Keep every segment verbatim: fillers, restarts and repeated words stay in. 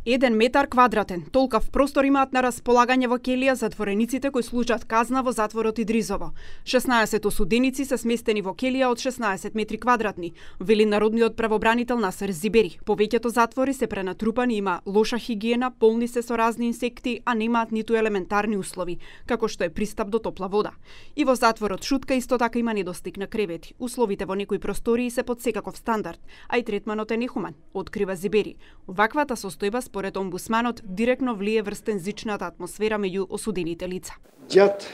Еден метар квадратен, толкав простор имаат на располагање во келија затворениците кои служат казна во затворот Идризово. шеснаесет осуденици се сместени во келија од шеснаесет метри квадратни, вели народниот правобранител Насер Зибери. Повеќето затвори се пренатрупани, има лоша хигиена, полни се со разни инсекти, а немаат ниту елементарни услови, како што е пристап до топла вода. И во затворот Шутка исто така има недостиг на кревети. Условите во некои простории се под секаков стандард, а и третманот е нехуман, открива Зибери. Ваквата состојба според омбусманот директно влие врз тензичната атмосфера меѓу осудените лица. Gjatë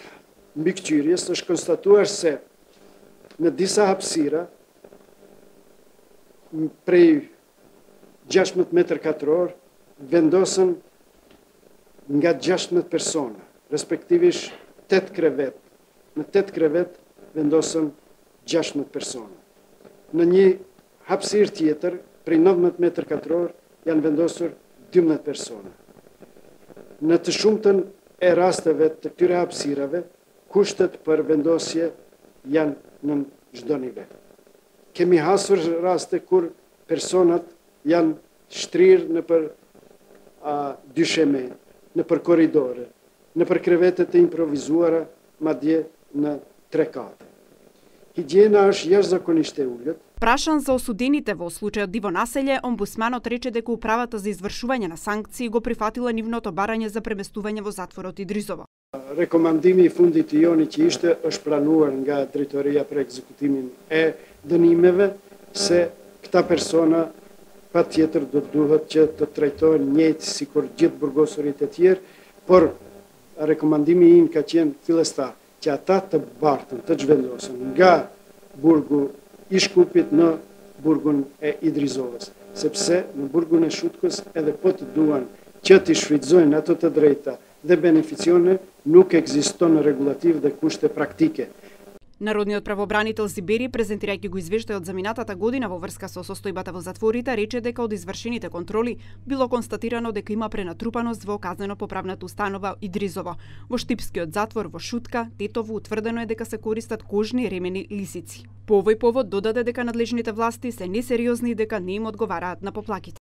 mbikëqyrjes është konstatuar se në disa hapësira prej gjashtëmbëdhjetë metër katror vendosen nga gjashtëmbëdhjetë persona, respektivisht tetë krevet. Në tetë krevet vendosen gjashtëmbëdhjetë persona. Në një hapësirë tjetër prej nëntëmbëdhjetë metër katror janë vendosur dymbëdhjetë persona. Në të shumtën e rasteve të këtyre hapësirave, kushtet për vendosje janë në çdo nivel. Kemi hasur raste kur personat janë shtrirë në për a, dysheme, në për korridore, në për krevetet e improvizuara, madje në tre kate. Higjiena është jashtëzakonisht e ulët. Прашан за осудените во случајот Диво населје, омбусманот рече дека управата за извршување на санкции го прифатила нивното барање за преместување во затворот Идризово. Rekomandimi i fundit i joni që ishte është planuar nga drejtoria për ekzekutimin e dënimeve se këta persona patjetër do duhet që të trajtohen njëjtë sikur gjithë burgosurit e tjerë, por rekomandimi im ka qenë fillestar që ata të bartën, të zhvendosen nga burgu i Shkupit në burgun e Idrizovës, sepse në burgun e Shutkës edhe po të duan që t'i shfrytëzojnë ato të drejta dhe beneficione, nuk ekziston regulativ dhe kushte praktike. Народниот правобранител Зибери, презентирајќи го извештајот за минатата година во врска со состојбата во затворите, рече дека од извршените контроли било констатирано дека има пренатрупаност во казнено-поправната установа Идризово. Во Штипскиот затвор во Шутка, Тетово, утврдено е дека се користат кожни ремени лисици. По овој повод додаде дека надлежните власти се несериозни и дека не им одговараат на поплаките.